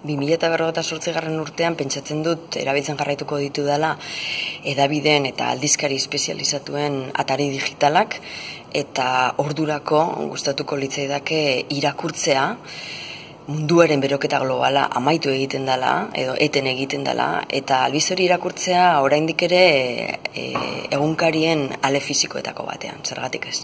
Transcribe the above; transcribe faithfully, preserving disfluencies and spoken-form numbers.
bi mila berrogeita zortzigarren urtean pentsatzen dut erabiltzen jarraituko ditu dela hedabideen eta aldizkari espezializatuen atari digitalak, eta ordurako gustatuko litzaidake irakurtzea munduaren beroketa globala amaitu egiten dela, edo eten egiten dela, eta albiz hori irakurtzea oraindik ere e, egunkarien ale fisikoetako batean, zergatik ez.